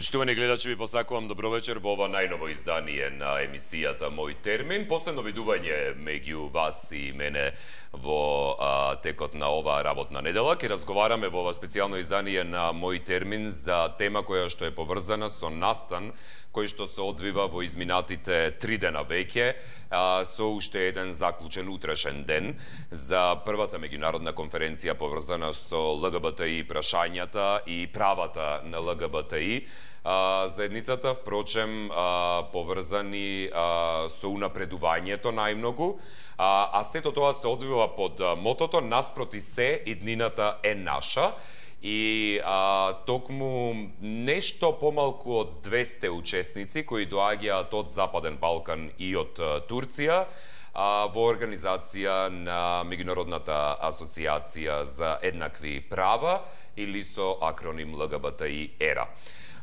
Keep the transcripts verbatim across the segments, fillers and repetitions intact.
Почитувани гледачи, ви посакувам добро вечер во ова најново издание на емисијата Мој термин. Последно видување меѓу вас и мене во а, текот на ова работна недела. Ке разговараме во ова специјално издание на Мој термин за тема која што е поврзана со настан кој што се одвива во изминатите три дена веќе, а, со уште еден заклучен утрешен ден за првата меѓународна конференција поврзана со ЛГБТИ прашањата и правата на ЛГБТИ. А, заедницата, впрочем, а, поврзани а, со унапредувањето најмногу, а, а сето тоа се одвива под мотото "Наспроти се, иднината е наша". И а, токму нешто помалку од двесте учесници кои доаѓаат од Западен Балкан и од а, Турција а, во организација на Меѓународната асоциација за еднакви права или со акроним ЛГБТИ ера.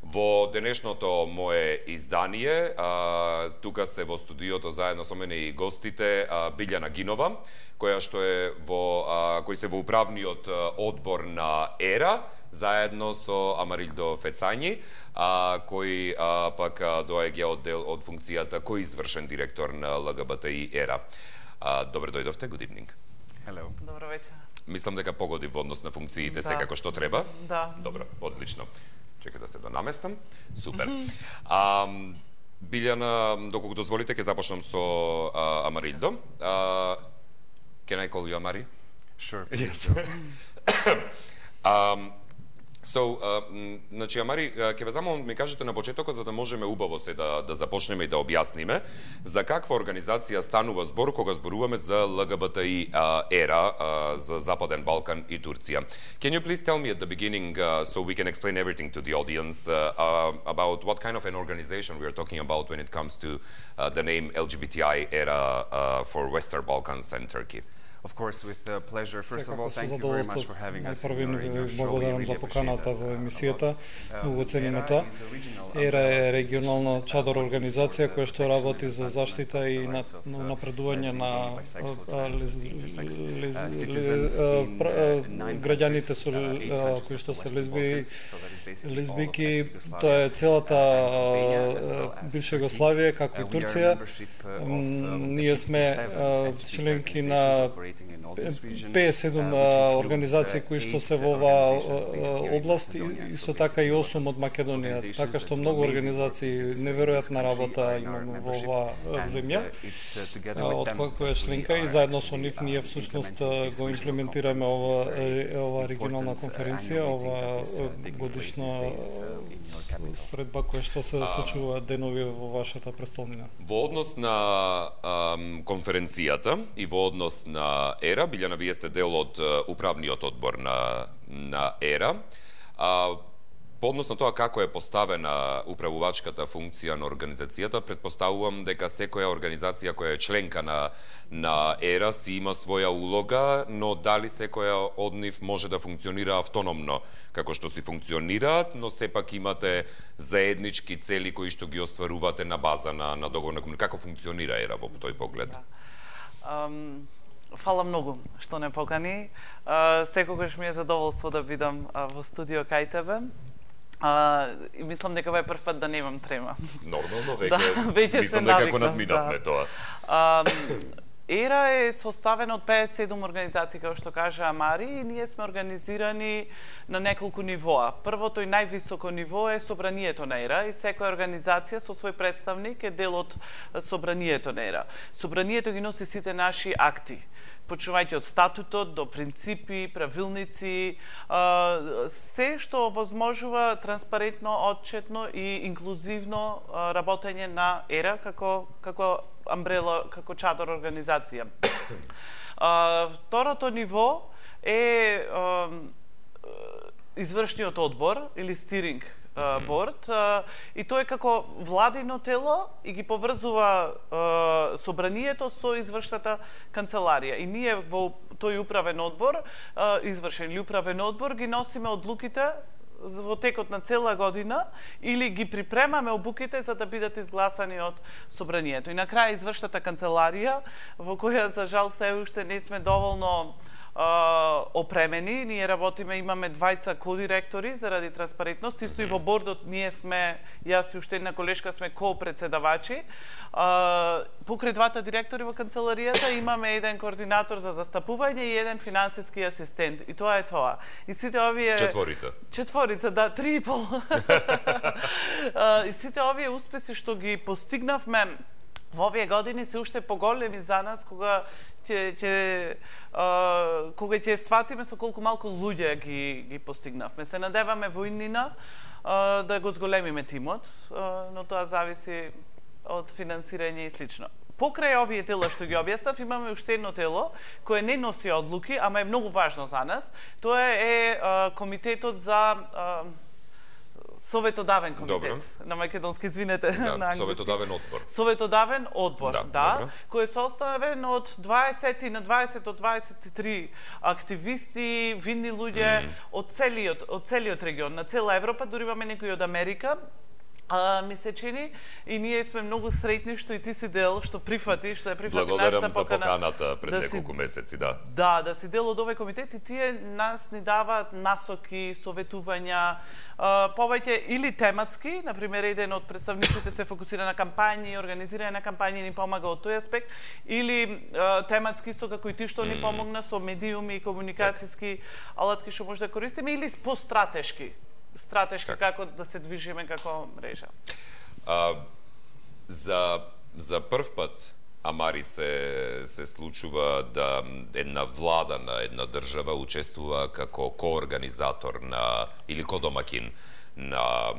Во денешното мое издание, а, тука се во студиото заедно со мене и гостите а, Билјана Гинова, која што е во а, кој се во управниот одбор на ера, заедно со Амарилдо Фецањи, а, кој а, пак доаѓа од дел од функцијата кој извршен директор на ЛГБТИ ера. А, добро дојдовте, good evening. Hello. Добро вечер. Мислам дека погоди во однос на функциите да. секако што треба. Да. Добро, одлично. Чекај да се донаместам. Супер. А, Билјана, доколку дозволите, ќе започнам со а, Амарилдо. А, can I call you Amari? Sure. Yes. um, so, uh, значи, Амари, ќе ве замолам да ми кажете на почетокот за да можеме убаво се да, да започнеме и да објасниме за каква организација станува збор кога зборуваме за ЛГБТИ uh, ера uh, за Западен Балкан и Турција. Can you please tell me at the beginning, uh, so we can explain everything to the audience, uh, uh, about what kind of an organization we are talking about when it comes to uh, the name L G B T I era uh, for Western Balkans and Turkey? Of course, with uh, pleasure. First of all, Секако со thank you very much задоволство. for having us Најпрви in your, in your ви show. We благодарам really за поканата appreciate во that, емисијата. uh, Многу um, цениме ERA тоа. is a regional ЕРА е umbrella регионална organization чадор that организација promotes која the што работи за protection and заштита и advancement на, of the rights of, на uh, напредување на lesbian, bisexual, trans, intersex, uh, citizens лез- in, пр- uh, nine граѓаните countries, со uh, eight countries кои of што the се Western лесби, Balkans, so that is basically all of лесбики, ex-Yugoslavia, тоа е целата uh, Albania, as well as бивша Turkey. Југославија, како Uh, и we are Турција. membership, uh, of, uh, Ние сме fifty-seven uh, членки organizations на operating in all this region, петдесет и седум uh, which includes, организации uh, кои што eight се во оваа organizations based here in област и Macedonia. исто So така и basically, осум од Македонија, organizations така that што do многу amazing организации work in this- неверојатна in this работа country are in our имаме во membership, оваа and, земја. uh, it's, uh, together А, with од them кој кој е that we членка и are заедно со actually, нив uh, ние всушност implementing this го regional имплементираме conference, ова this very ова регионална important, uh, конференција, annual ова meeting that is, uh, taking place годишна these days, uh, in your capital. средба која што се случува денови во вашата престолнина. Во однос на ам, конференцијата и во однос на ера, Билјана, вие сте дел од uh, управниот одбор на, на ера. А, по однос на тоа како е поставена управувачката функција на организацијата, предпоставувам дека секоја организација која е членка на, на ера си има своја улога, но дали секоја од нив може да функционира автономно како што си функционираат, но сепак имате заеднички цели кои што ги остварувате на база на, на договор на комуникација. Како функционира ера во тој поглед? Um, Фала многу што не покани. Uh, секогаш ми е задоволство да бидам uh, во студио кај тебе. Uh, и мислам дека ова е прв пат да немам трема. Нормално, веќе, Да, веќе мислам се дека навикнав, го надминавме да. тоа. Um, ера е составена од петдесет и седум организации, како што кажа Амари, и ние сме организирани на неколку нивоа. Првото и највисоко ниво е собранието на ера и секоја организација со свој представник е дел од собранието на ера. Собранието ги носи сите наши акти, почнувајќи од статутот до принципи, правилници, се што возможува транспарентно, отчетно и инклузивно работење на ера како како амбрела, како чадор организација. Второто ниво е извршниот одбор или стиринг борд, и тој е како владино тело и ги поврзува собранието со извршната канцеларија. И ние во тој управен одбор, извршен или управен одбор, ги носиме одлуките во текот на цела година или ги припремаме обуките за да бидат изгласани од собранието. И на крај извршната канцеларија, во која за жал се уште не сме доволно опремени. Ние работиме, имаме двајца кодиректори заради транспарентност. Исто и во бордот ние сме, јас и уште една колешка сме ко-председавачи. Покрај двата директори во канцеларијата имаме еден координатор за застапување и еден финансиски асистент. И тоа е тоа. И сите овие Четворица. Четворица, да, три и пол. И сите овие успеси што ги постигнавме во овие години се уште поголеми за нас кога ќе ќе кога ќе сватиме со колку малку луѓе ги ги постигнавме. Се надеваме во иднина да го зголемиме тимот, но тоа зависи од финансирање и слично. Покрај овие тела што ги објаснав, имаме уште едно тело кое не носи одлуки, ама е многу важно за нас. Тоа е комитетот за Советодавен комитет. Добро. На македонски, извинете, Да, на англиски. Советодавен одбор. Советодавен одбор, Да, да, добро. кој е составен од дваесет на дваесет од дваесет и три активисти, видни луѓе mm. од целиот од целиот регион, на цела Европа, дури имаме некои од Америка. А, ми се чини и ние сме многу среќни што и ти си дел, што прифати, што е прифати Благодарам нашата за покана. поканата пред да неколку си, месеци, да. Да, да си дел од овој комитет и тие нас ни даваат насоки, советувања, а, повеќе или тематски, например еден од представниците се фокусира на кампањи, организирање на кампањи ни помага од тој аспект, или а, тематски исто како и ти што mm. ни помогна со медиуми и комуникацијски алатки што може да користиме, или по-стратешки. стратешки как? како да се движиме како мрежа. А, за за прв пат Амари се се случува да една влада на една држава учествува како коорганизатор на или кодомакин на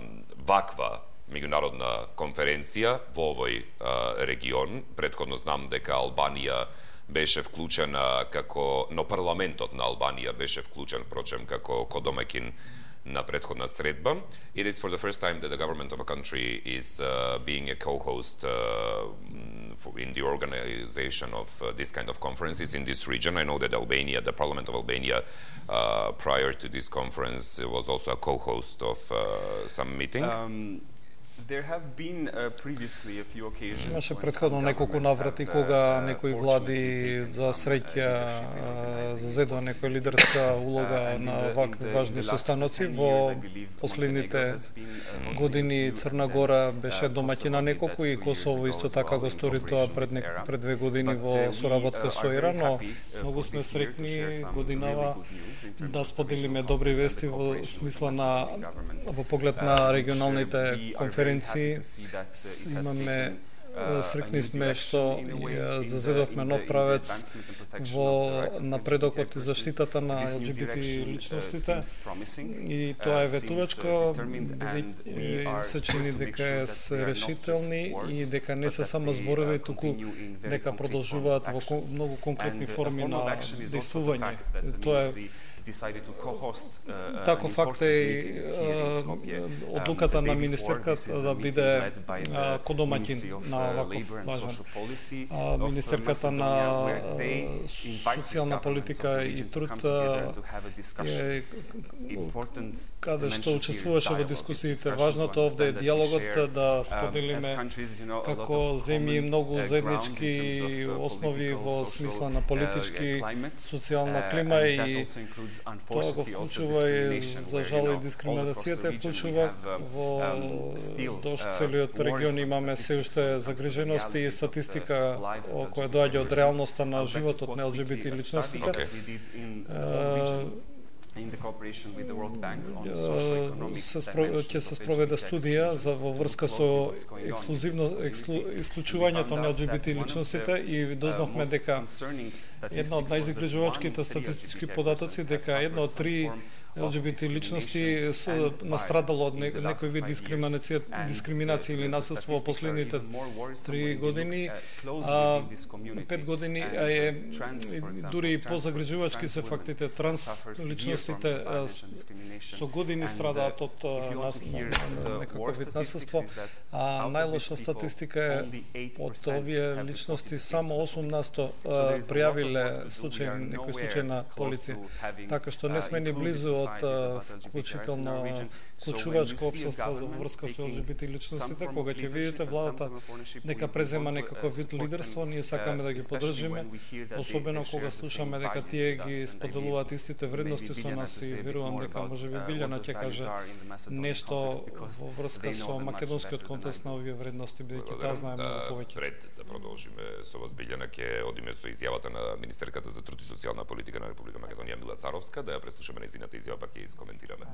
ваква меѓународна конференција во овој а, регион. Претходно знам дека Албанија беше вклучена како, но парламентот на Албанија беше вклучен, впрочем, како кодомакин на предходна средба. It is for the first time that the government of a country is uh, being a co-host uh, for, in the organization of uh, this kind of conferences in this region. I know that Albania, the Parliament of Albania, uh, prior to this conference, was also a co-host of uh, some meeting. Um, There have been uh, previously a few occasions. Имаше претходно неколку наврати кога некои влади за среќа зазедува некоја лидерска улога на вакви важни состаноци. Во последните години Црна Гора беше домаќин на неколку и Косово исто така го стори тоа пред не, пред две години во соработка со Иран, но многу сме среќни годинава да споделиме добри вести во смисла на во поглед на регионалните конференции. Имаме среќни сме што зазедовме нов правец во напредокот и заштитата на Ел Џи Би Ти личностите и тоа е ветувачко, бидејќи се чини дека се решителни и дека не се само зборови, туку дека продолжуваат во многу конкретни форми на действување. Тоа е Тако факт е одлуката на министерката да биде кодомаќин на ваков важен. Министерката на социјална политика и труд е каде што учествуваше во дискусиите. Важното овде е диалогот, да споделиме како земји многу заеднички основи во смисла на политички, социјална клима и тоа го вклучува и за жал и дискриминацијата вклучува во дошто целиот регион. Имаме се уште загрижености и статистика која доаѓа од реалноста на животот на Ел Џи Би Ти личностите. Ќе се спроведе студија за во врска со ексклузивно ексклу, исклучувањето на Ел Џи Би Ти личностите и дознавме дека една од најзагрижувачките статистички податоци дека една од три Ел Џи Би Ти личности се настрадало од некој вид дискриминација, дискриминација или насилство во последните три години, а пет години е дури и позагрижувачки се фактите. Транс личностите со години страдаат од некаков вид насилство, а најлоша статистика е од овие личности само осум на сто пријавиле случај, некој случај на полиција. Така што не сме ни близу од вклучително вклучувачко општество за врска со Л Г Б Т личностите, кога ќе видите владата нека презема некаков вид лидерство, ние сакаме да ги поддржиме, особено кога слушаме дека тие ги споделуваат истите вредности со нас и верувам дека можеби Билјана ќе каже нешто во врска со македонскиот контекст на овие вредности, бидејќи таа знае многу повеќе. Пред да продолжиме со вас, Билјана, ќе одиме со изјавата на министерката за труд и социјална политика на Република Македонија Мила Царовска, да ја преслушаме нејзината изјава, па ќе ја искоментираме.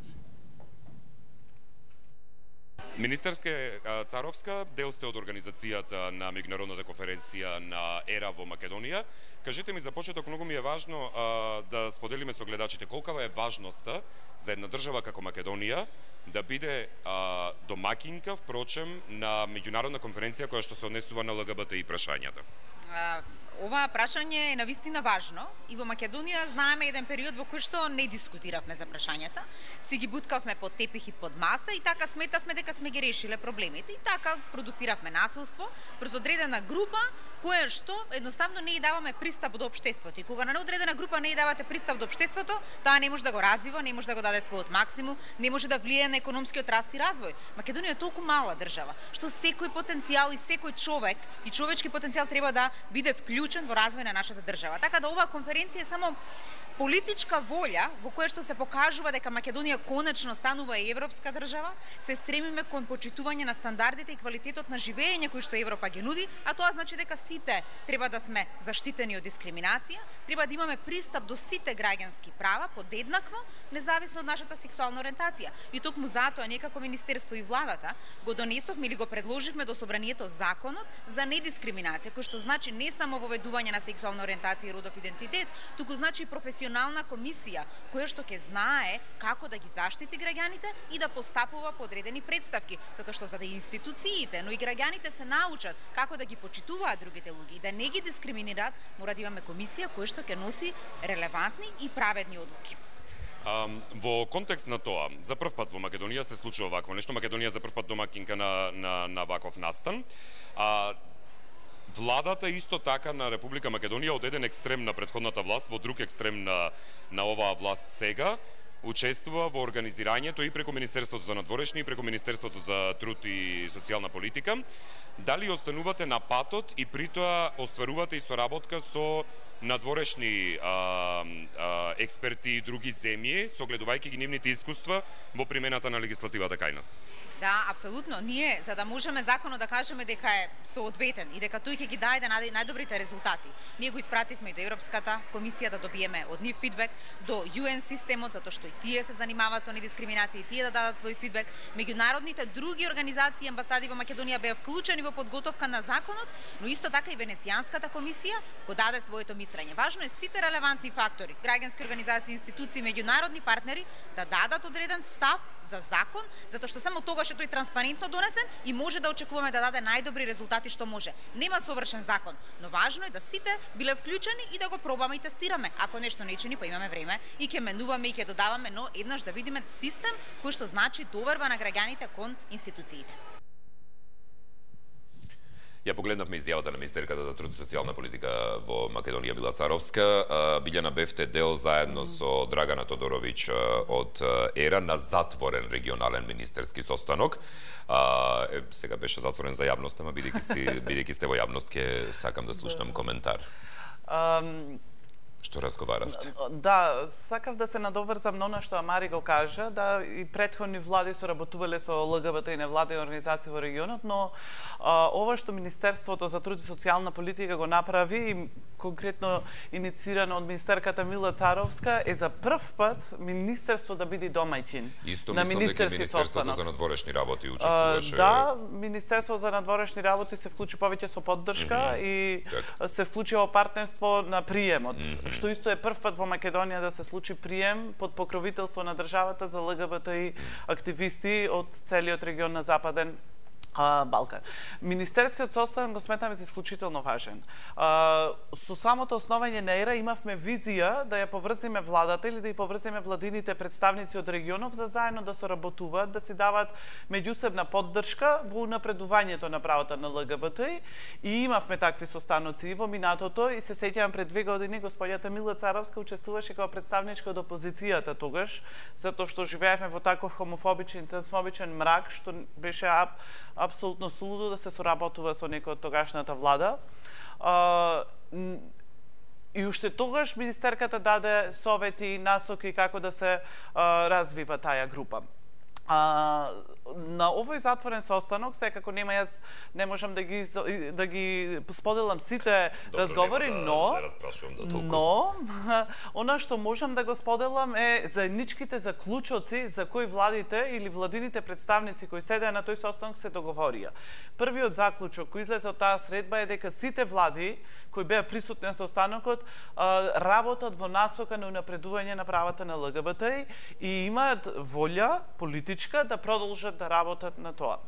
Министерке Царовска, дел сте од организацијата на меѓународната конференција на ЕРА во Македонија. Кажете ми за почеток, многу ми е важно а, да споделиме со гледачите колкава е важноста за една држава како Македонија да биде а, домакинка, впрочем, на меѓународна конференција која што се однесува на Л Г Б Т и прашањата. Ова прашање е навистина важно и во Македонија знаеме еден период во кој што не дискутиравме за прашањата, си ги буткавме под тепих и под маса и така сметавме дека сме ги решиле проблемите и така продуциравме насилство врз одредена група која што едноставно не ја даваме пристап до општеството. И кога на одредена група не ја давате пристап до општеството, таа не може да го развива, не може да го даде својот максимум, не може да влијае на економскиот раст и развој. Македонија е толку мала држава, што секој потенцијал и секој човек и човечки потенцијал треба да биде вклучен во развој на нашата држава. Така да оваа конференција е само политичка волја во која што се покажува дека Македонија конечно станува европска држава, се стремиме кон почитување на стандардите и квалитетот на живење кој што Европа ги нуди, а тоа значи дека сите треба да сме заштитени од дискриминација, треба да имаме пристап до сите граѓански права подеднакво, независно од нашата сексуална ориентација. И токму затоа ние како министерство и владата го донесовме или го предложивме до собранието законот за недискриминација, кој што значи не само воведување на сексуална ориентација и родов идентитет, туку значи професионална комисија која што ќе знае како да ги заштити граѓаните и да постапува по одредени претставки, затоа што за да институциите, но и граѓаните се научат како да ги почитуваат другите луѓе и да не ги дискриминираат, мора да имаме комисија која што ќе носи релевантни и праведни одлуки. А, во контекст на тоа, за прв пат во Македонија се случува вакво нешто. Македонија за прв пат домакинка на на на ваков настан. А владата исто така на Република Македонија од еден екстрем на претходната власт во друг екстрем на на оваа власт сега учествува во организирањето и преку Министерството за надворешни и преку Министерството за труд и социјална политика. Дали останувате на патот и притоа остварувате и соработка со надворешни а, а, експерти и други земји, согледувајќи ги нивните искуства во примената на легислативата кај нас? Да, апсолутно. Ние, за да можеме законот да кажеме дека е соодветен и дека тој ќе ги даде најдобрите резултати, ние го испративме и до Европската комисија да добиеме од нив фидбек, до Ю Ен системот, затоа што и тие се занимаваат со недискриминација и тие да дадат свој фидбек. Меѓународните други организации и амбасади во Македонија беа вклучени во подготовка на законот, но исто така и Венецијанската комисија го даде своето мислење. Важно е сите релевантни фактори, граѓански организации, институции, меѓународни партнери да дадат одреден став за закон, затоа што само тогаш е тој транспарентно донесен и може да очекуваме да даде најдобри резултати што може. Нема совршен закон, но важно е да сите биле вклучени и да го пробаме и тестираме. Ако нешто не чини, па имаме време и ќе менуваме и ќе додаваме, но еднаш да видиме систем кој што значи доверба на граѓаните кон институциите. Ја погледнавме изјавата на министерката за труд и социјална политика во Македонија Мила Царовска. Билјана, бевте дел заедно со Драгана Тодоровиќ од ЕРА на затворен регионален министерски состанок. А, е, сега беше затворен за јавност, ама бидејќи си бидејќи сте во јавност ќе сакам да слушнам коментар. Um... Што разговаравте? Да, сакав да се надоврзам на она што Амари го кажа, да и претходни влади соработувале со Л Г Б Т и невладени организации во регионот, но а, ова што Министерството за труд и социјална политика го направи, и конкретно инициирано од министерката Мила Царовска, е за прв пат министерство да биде домаќин на министерски Министерството за надворешни работи учествуваше. Да, Министерството за надворешни работи се вклучи повеќе со поддршка mm -hmm. и так. се вклучи во партнерство на приемот. Mm -hmm. Што исто е прв пат во Македонија да се случи прием под покровителство на државата за Л Г Б Т и активисти од целиот регион на Западен Балкан. Министерскиот состав го сметаме за исклучително важен. А, со самото основање на ЕРА имавме визија да ја поврзиме владата или да ја поврзиме владините представници од регионов за заедно да соработуваат, да си дават меѓусебна поддршка во унапредувањето на правата на ЛГБТ и имавме такви состаноци и во минатото и се сеќавам пред две години господјата Мила Царовска учествуваше како представничка од опозицијата тогаш, затоа што живеевме во таков хомофобичен, трансфобичен мрак што беше ап апсолутно сулудо да се соработува со некој од тогашната влада. А, и уште тогаш министерката даде совети и насоки како да се а, развива таа група. А, на овој затворен состанок, секако нема јас не можам да ги да ги споделам сите Добро, разговори, да, но да распрашувам до толку. но она што можам да го споделам е заедничките заклучоци за кои владите или владините представници кои седеа на тој состанок се договорија. Првиот заклучок кој излезе од таа средба е дека сите влади кои беа присутни на состанокот работат во насока на унапредување на правата на ЛГБТ и имаат волја политичка да продолжат да работат на тоа.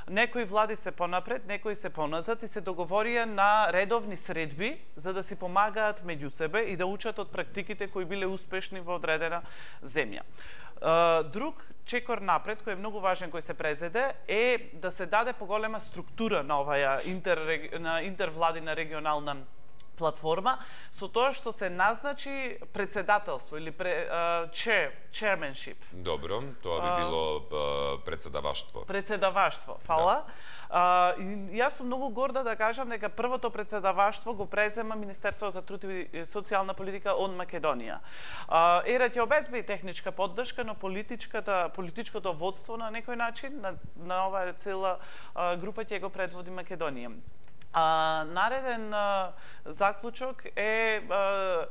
Некои влади се понапред, некои се поназад и се договорија на редовни средби за да си помагаат меѓу себе и да учат од практиките кои биле успешни во одредена земја. Друг чекор напред, кој е многу важен, кој се презеде, е да се даде поголема структура на оваа интер, на интервладина регионална платформа, со тоа што се назначи председателство или пре, uh, chair, chairmanship. Добро, тоа би било uh, председаваштво. Председаваштво, фала. Да. Uh, и јас сум многу горда да кажам дека првото председаваштво го презема Министерството за труд и социјална политика од Македонија. Uh, ЕРА ќе обезбеди техничка поддршка, но политичката политичкото водство на некој начин на, на оваа цела uh, група ќе го предводи Македонија. А, нареден а, заклучок е а,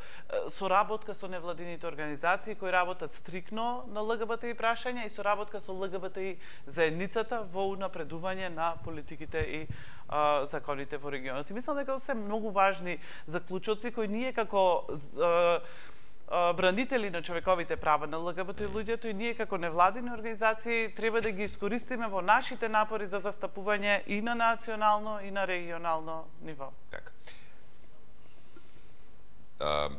соработка со невладините организации кои работат стрикно на ЛГБТ и прашања и соработка со ЛГБТ и заедницата во унапредување на политиките и а, законите во регионот. И мислам дека се многу важни заклучоци кои ние како а, бранители на човековите права на ЛГБТ луѓето и ние како невладини организации треба да ги искористиме во нашите напори за застапување и на национално и на регионално ниво. Така. А,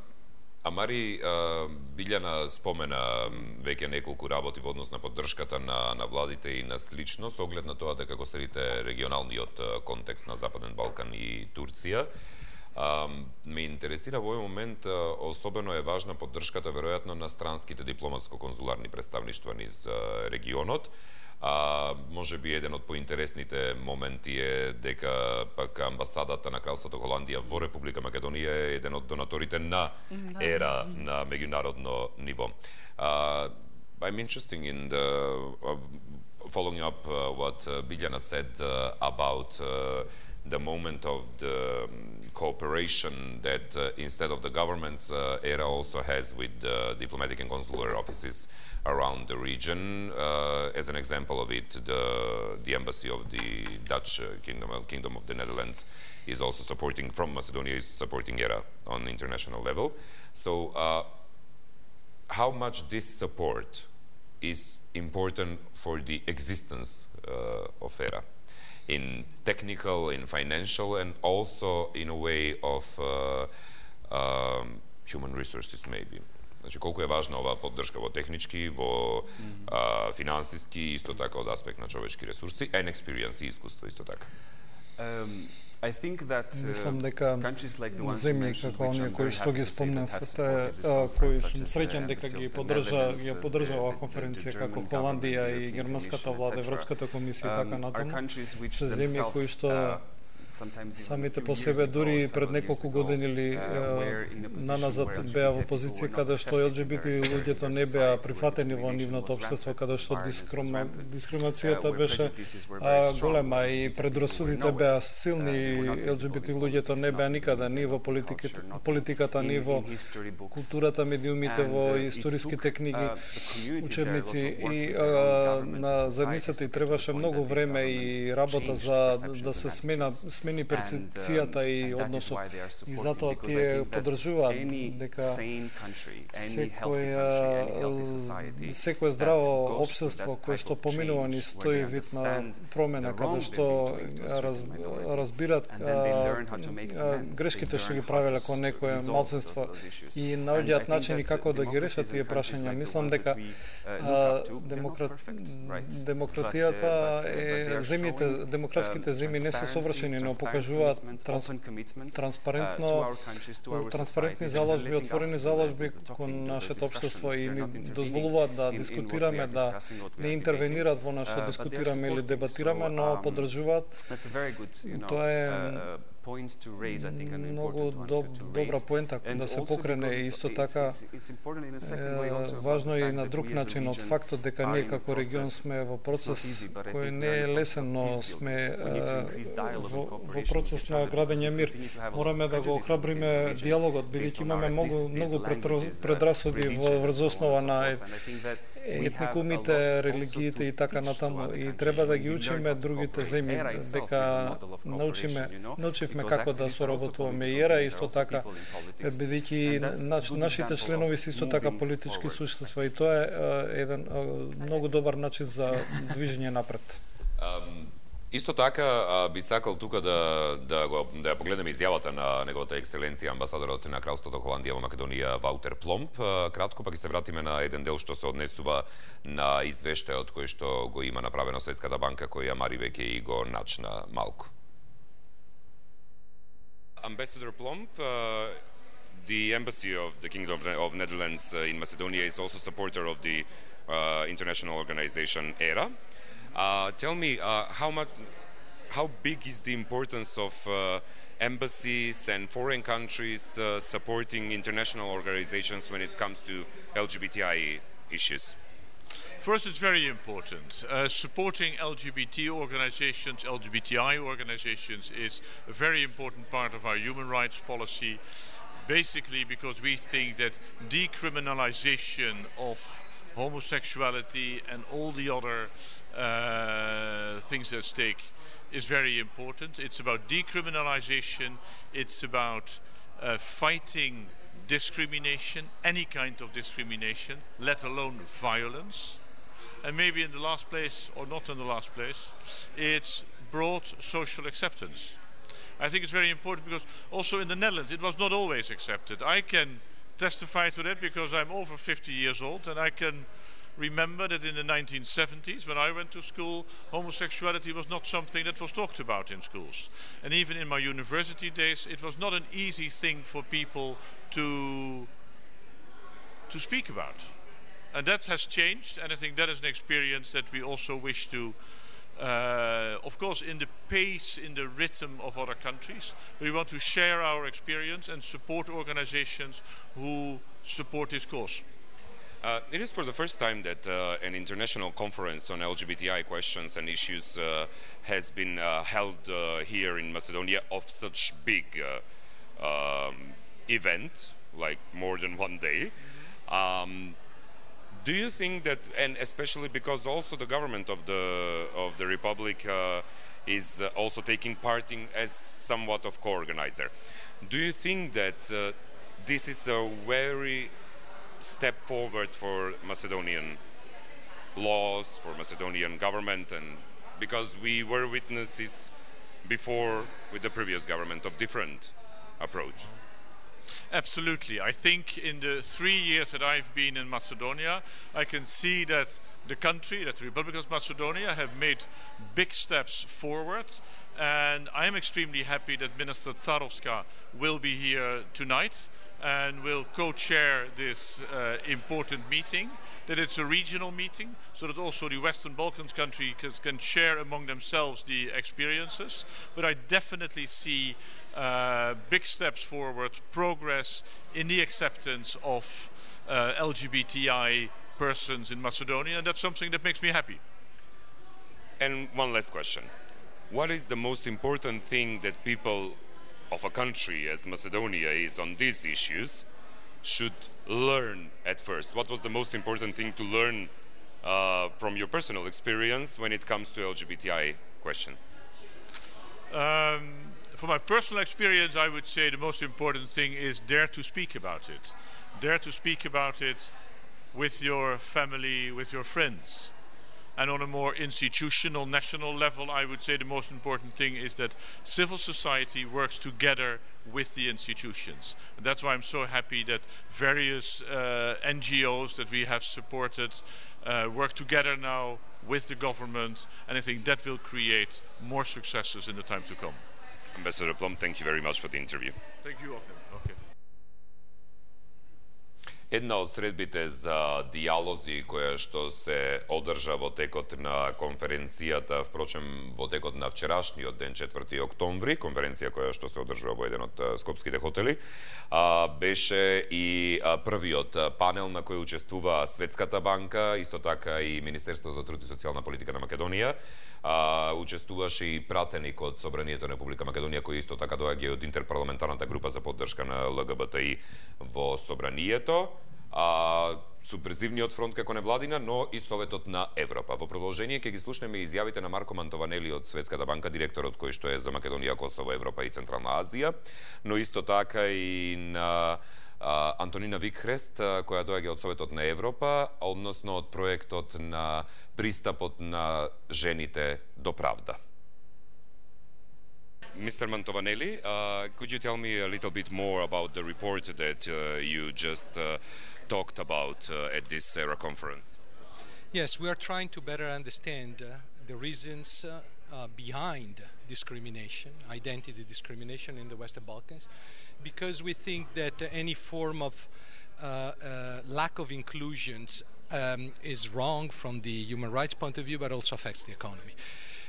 Амари, а, Билјана спомена веќе неколку работи во однос на поддршката на, на владите и на слично, со оглед на тоа дека го следите регионалниот контекст на Западен Балкан и Турција. Uh, ме интересира во овој момент, uh, особено е важна поддршката веројатно на странските дипломатско-конзуларни представништва низ uh, регионот. А uh, може би еден од поинтересните моменти е дека пак амбасадата на Кралството Холандија во Република Македонија е еден од донаторите на ЕРА на меѓународно ниво. Uh, I'm interested in the uh, following up uh, what uh, Biljana said uh, about uh, the moment of the um, cooperation that uh, instead of the governments, uh, ERA also has with uh, diplomatic and consular offices around the region. Uh, as an example of it, the, the embassy of the Dutch uh, Kingdom, uh, Kingdom of the Netherlands is also supporting, from Macedonia, is supporting ERA on international level. So uh, how much this support is important for the existence uh, of ERA? In technical, in financial, and also in a way of uh, um, human resources, maybe. Значи, колку е важна оваа поддршка во технички, во mm-hmm. uh, финансиски, исто така од аспект на човечки ресурси, and experience и искуство, исто така. Um, I think that uh, Мислам дека земји како оние кои што ги спомнавте, кои сум среќен дека ги поддржа, ја поддржа оваа конференција како Холандија и германската влада, Европската комисија и така натаму, се земји кои што самите по себе дури пред неколку години или наназад беа во позиција каде што Ел Џи Би Ти луѓето не беа прифатени во нивното општество, каде што дискриминацијата беше голема и предрасудите беа силни. Ел Џи Би Ти луѓето не беа никаде ни во политиката, политиката ни во културата, медиумите, во историските книги, учебници и на заедницата и требаше многу време и работа за да се смена смени перцепцијата и односот. И затоа тие поддржуваат дека секоја секое здраво општество кое што поминува низ тој вид на промена, каде што раз, разбират а, а, грешките што ги правеле кон некое малцинство и наоѓаат начини како да ги решат тие прашања. Мислам дека а, демократ, демократијата е земјите, демократските земји не се совршени, но покажуваат транс, транспарентно транспарентни заложби, отворени заложби кон нашето општество и ни дозволуваат да дискутираме, да не интервенираат во нашто дискутираме или дебатираме, но поддржуваат. Тоа е многу доб, добра поента да се покрене и исто така е, важно е и на друг начин од фактот дека ние како регион сме во процес кој не е лесен, но сме е, во, во процес на градење мир. Мораме да го охрабриме диалогот, бидејќи имаме многу многу предрасуди во врз основа на етникумите, религиите и така натаму, и треба да ги учиме другите земји, дека научиме, научивме како да соработуваме и ера исто така, бидејќи наш, нашите членови се исто така политички суштества и тоа е еден многу добар начин за движење напред. Um... Исто така би сакал тука да да го да ја погледнеме изјавата на неговата екселенција амбасадорот на Кралството Холандија во Македонија Ваутер Пломп. Кратко па ќе се вратиме на еден дел што се однесува на извештајот кој што го има направено Светската банка, кој Мари веќе и го начна малку. Ambassador Plomp, uh, the embassy of the Kingdom of Netherlands in Macedonia is also supporter of the uh, international organization ERA. Uh, tell me, uh, how much, how big is the importance of uh, embassies and foreign countries uh, supporting international organizations when it comes to L G B T I issues? First, it's very important. Uh, supporting L G B T organizations, L G B T I organizations is a very important part of our human rights policy, basically because we think that decriminalization of homosexuality and all the other uh, things at stake is very important. It's about decriminalization, it's about uh, fighting discrimination, any kind of discrimination, let alone violence. And maybe in the last place, or not in the last place, it's broad social acceptance. I think it's very important because also in the Netherlands it was not always accepted. I can testify to that because I'm over fifty years old, and I can remember that in the nineteen seventies, when I went to school, homosexuality was not something that was talked about in schools. And even in my university days, it was not an easy thing for people to, to speak about. And that has changed, and I think that is an experience that we also wish to, uh, of course, in the pace, in the rhythm of other countries. We want to share our experience and support organizations who support this cause. Uh, it is for the first time that uh, an international conference on L G B T I questions and issues uh, has been uh, held uh, here in Macedonia of such big uh, um, event, like more than one day. Um, do you think that, and especially because also the government of the of the Republic uh, is uh, also taking part in as somewhat of co-organizer, do you think that uh, this is a very step forward for Macedonian laws, for Macedonian government, and because we were witnesses before with the previous government of different approach? Absolutely. I think in the three years that I've been in Macedonia, I can see that the country, that the Republic of Macedonia, have made big steps forward, and I'm extremely happy that Minister Tsarovska will be here tonight and will co-chair this uh, important meeting, that it's a regional meeting, so that also the Western Balkans countries can share among themselves the experiences. But I definitely see uh, big steps forward, progress in the acceptance of uh, L G B T I persons in Macedonia, and that's something that makes me happy. And one last question. What is the most important thing that people of a country as Macedonia is on these issues should learn at first? What was the most important thing to learn uh, from your personal experience when it comes to L G B T I questions? Um, from my personal experience, I would say the most important thing is dare to speak about it. Dare to speak about it with your family, with your friends. And on a more institutional, national level, I would say the most important thing is that civil society works together with the institutions. And that's why I'm so happy that various uh, N G Os that we have supported uh, work together now with the government, and I think that will create more successes in the time to come. Ambassador Plum, thank you very much for the interview. Thank you, Othman. Okay. Една од средбите за диалози која што се одржа во текот на конференцијата, впрочем во текот на вчерашниот ден, четврти октомври, конференција која што се одржува во еден од скопските хотели, беше и првиот панел на кој учествува Светската банка, исто така и Министерство за труд и социјална политика на Македонија. Учествуваше и пратеник од Собранието на Република Македонија, кој исто така доаѓа од интерпарламентарната група за поддршка на Л Г Б Т И во Собранието. А, супресивниот фронт како невладина, но и Советот на Европа. Во продолжение ќе ги слушнеме изјавите на Марко Мантованели од Светската банка, директорот кој што е за Македонија, Косово, Европа и Централна Азија, но исто така и на а, Антонина Викхрест, која доаѓа од Советот на Европа, односно од проектот на пристапот на жените до правда. Mister Mantovanelli, uh, could you tell me a little bit more about the report that uh, you just uh, talked about uh, at this ERA conference? Yes, we are trying to better understand uh, the reasons uh, uh, behind discrimination, identity discrimination in the Western Balkans, because we think that uh, any form of uh, uh, lack of inclusions um, is wrong from the human rights point of view, but also affects the economy.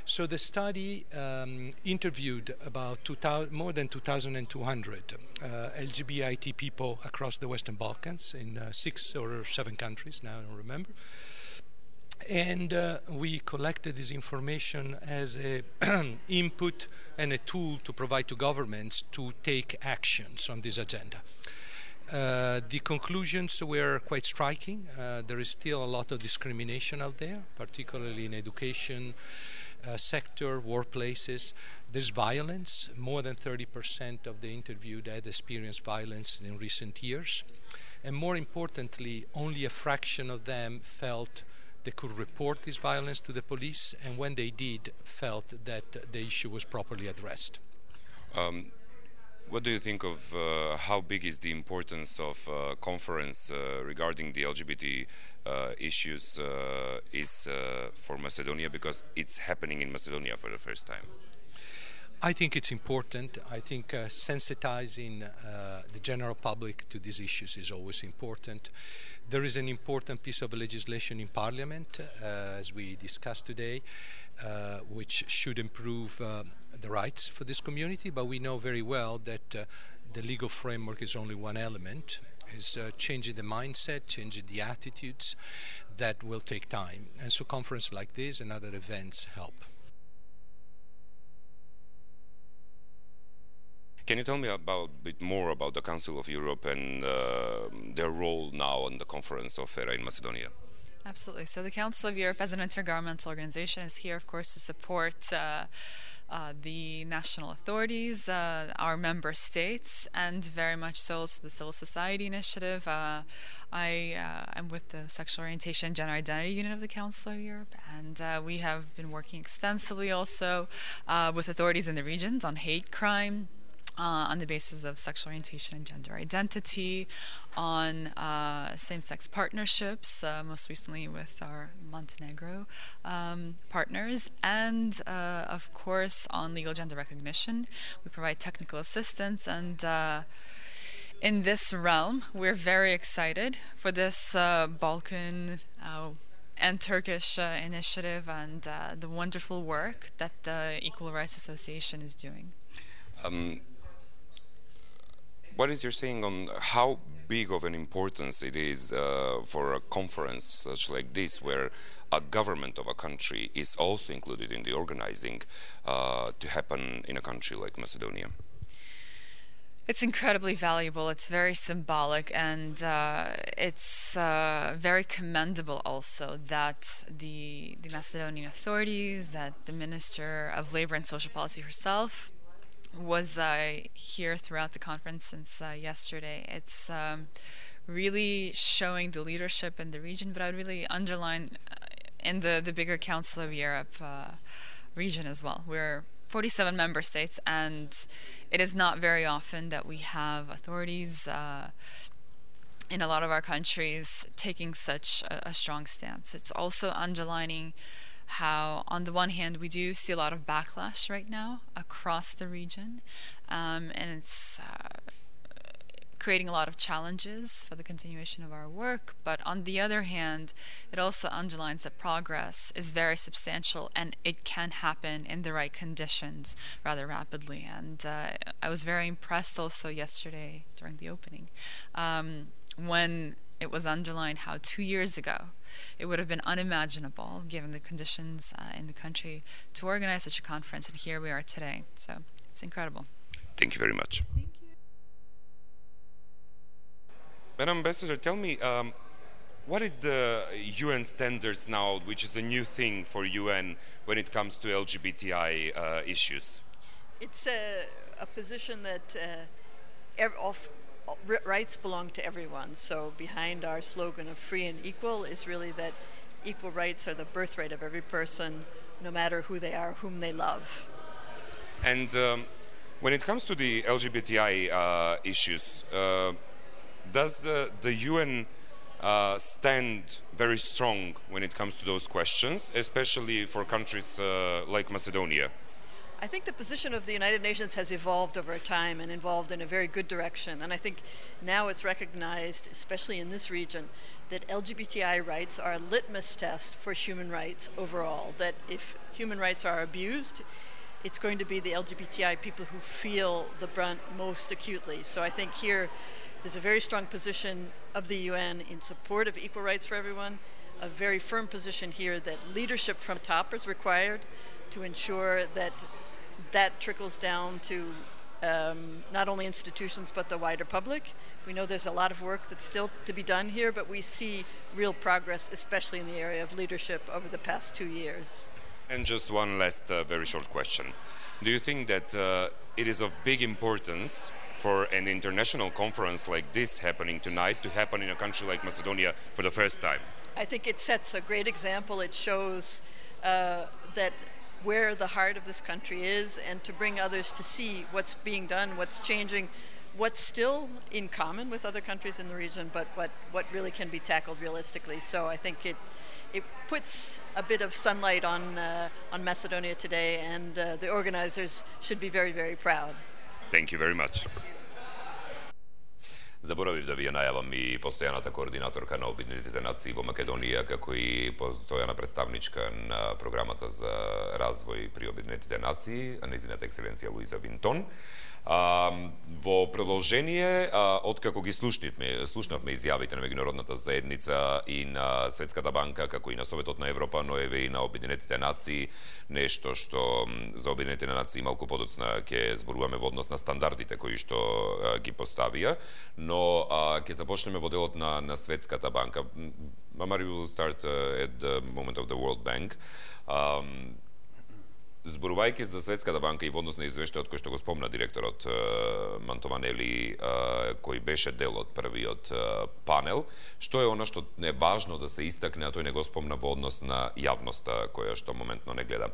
So the study um, interviewed about two thousand, more than two thousand two hundred uh, L G B T people across the Western Balkans in uh, six or seven countries, now I don't remember. And uh, we collected this information as an input and a tool to provide to governments to take actions on this agenda. Uh, the conclusions were quite striking. Uh, there is still a lot of discrimination out there, particularly in education, Uh, sector, workplaces. There's violence. More than thirty percent of the interviewed had experienced violence in recent years. And more importantly, only a fraction of them felt they could report this violence to the police, and when they did, felt that the issue was properly addressed. Um, what do you think of uh, how big is the importance of uh, conference uh, regarding the L G B T uh, issues uh, is uh, for Macedonia, because it's happening in Macedonia for the first time? I think it's important. I think uh, sensitizing uh, the general public to these issues is always important. There is an important piece of legislation in Parliament, uh, as we discussed today, uh, which should improve uh, the rights for this community, but we know very well that uh, the legal framework is only one element. Is uh, changing the mindset, changing the attitudes. That will take time. And so conferences like this and other events help. Can you tell me about a bit more about the Council of Europe and uh, their role now on the conference of ERA in Macedonia? Absolutely. So the Council of Europe, as an intergovernmental organization, is here, of course, to support uh, uh, the national authorities, uh, our member states, and very much so also the Civil Society Initiative. Uh, I uh, am with the Sexual Orientation and Gender Identity Unit of the Council of Europe, and uh, we have been working extensively also uh, with authorities in the regions on hate crime, Uh, on the basis of sexual orientation and gender identity, on uh, same-sex partnerships, uh, most recently with our Montenegro um, partners, and uh, of course on legal gender recognition. We provide technical assistance, and uh, in this realm we're very excited for this uh, Balkan uh, and Turkish uh, initiative and uh, the wonderful work that the Equal Rights Association is doing. Um, What is your saying on how big of an importance it is uh, for a conference such like this, where a government of a country is also included in the organizing, uh, to happen in a country like Macedonia? It's incredibly valuable. It's very symbolic, and uh, it's uh, very commendable also that the, the Macedonian authorities, that the Minister of Labor and Social Policy herself, was uh, here throughout the conference since uh, yesterday. It's um, really showing the leadership in the region, but I would really underline uh, in the, the bigger Council of Europe uh, region as well. We're forty-seven member states, and it is not very often that we have authorities uh, in a lot of our countries taking such a, a strong stance. It's also underlining how, on the one hand, we do see a lot of backlash right now across the region, um, and it's uh, creating a lot of challenges for the continuation of our work. But on the other hand, it also underlines that progress is very substantial and it can happen in the right conditions rather rapidly. And uh, I was very impressed also yesterday during the opening um, when it was underlined how two years ago it would have been unimaginable, given the conditions uh, in the country, to organize such a conference, and here we are today. So it's incredible. Thank you very much. Thank you. Madam Ambassador, tell me, um, what is the U N standards now, which is a new thing for U N when it comes to L G B T I uh, issues? It's a, a position that uh, ev- of, rights belong to everyone. So behind our slogan of free and equal is really that equal rights are the birthright of every person, no matter who they are, whom they love. And um, when it comes to the L G B T I uh, issues, uh, does uh, the U N uh, stand very strong when it comes to those questions, especially for countries uh, like Macedonia? I think the position of the United Nations has evolved over time and evolved in a very good direction. And I think now it's recognized, especially in this region, that L G B T I rights are a litmus test for human rights overall. That if human rights are abused, it's going to be the L G B T I people who feel the brunt most acutely. So I think here there's a very strong position of the U N in support of equal rights for everyone, a very firm position here that leadership from top is required to ensure that that trickles down to um, not only institutions but the wider public. We know there's a lot of work that's still to be done here, but we see real progress, especially in the area of leadership over the past two years. And just one last uh, very short question. Do you think that uh, it is of big importance for an international conference like this happening tonight to happen in a country like Macedonia for the first time? I think it sets a great example. It shows uh, that where the heart of this country is, and to bring others to see what's being done, what's changing, what's still in common with other countries in the region, but what, what really can be tackled realistically. So I think it it puts a bit of sunlight on uh, on Macedonia today, and uh, the organizers should be very, very proud. Thank you very much. Заборавив да ви ја најавам и постојаната координаторка на Обединетите нации во Македонија, како и постојана представничка на програмата за развој при Обединетите нации, нејзината екселенција Луиза Винтон. А, во продолжение, а, откако ги слушнавме, слушнавме изјавите на меѓународната заедница и на Светската банка, како и на Советот на Европа, но еве и на Обединетите нации, нешто што за Обединетите нации малку подоцна ќе зборуваме во однос на стандардите кои што а, ги поставија, но а, ќе започнеме во делот на, на Светската банка. Мамари will start uh, at the moment of the World Bank. Um, Зборувајќи за Светската банка и во однос на извештајот кој што го спомна директорот Мантованели, кој беше дел од првиот панел, што е она што е важно да се истакне, а тој не го спомна во однос на јавноста која што моментно не гледа.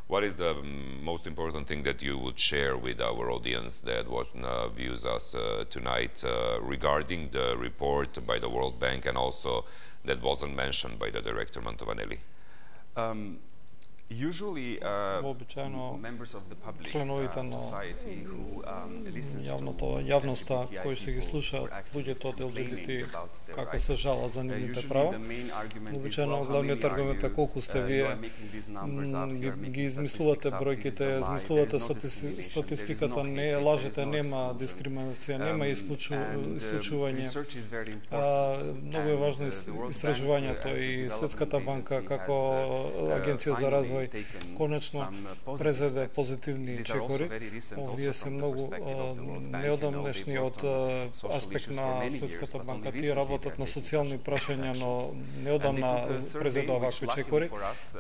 What is the most important thing that you would share with our audience that what, uh, views us uh, tonight uh, regarding the report by the World Bank and also that wasn't mentioned by the director Mantovaneli? Um, Usually, uh, Вообичаено members of the public членовите uh, на society who um, listens јавното, to јавноста L G B T I кои ще ги people слушаат who are луѓето од Л Г Б Т complaining about their како rights. се жалат за Uh, нивните usually права. the main argument is, Обичаено well, how главниот many are аргумент е you? колку сте Uh, you вие, are making these numbers up, you are ги, making ги измислувате statistics up, бројките, this is a lie, измислувате there is no статисти, discrimination, статистиката, there is no не hatred, лажете, there is no нема exclusion. дискриминација, Um, нема исклучу, and, uh, исклучување. research is very important. А, многу е And, важно uh, the World Bank, истражувањето uh, as a и development Светската банка agency, како has, uh, агенција за finally развој развој конечно презеде позитивни чекори. Овие се многу неодамнешни од аспект на Светската банка. Тие работат на социјални прашања, но неодамна презеде вакви чекори.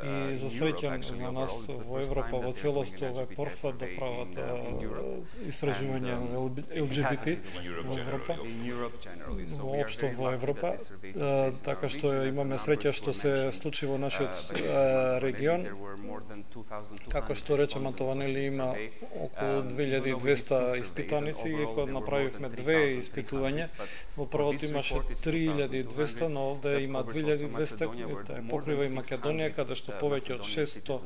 И за среќа на нас во Европа во целост ова е порфат да прават истражување на ел џи би ти во Европа, воопшто во Европа, така што имаме среќа што се случи во нашиот регион. Како што рече Антонели, има околу две илјади и двесте испитаници, и кога направивме две испитувања, во првото имаше три илјади и двесте, но овде има две илјади и двесте, покрива и Македонија, каде што повеќе од шестsto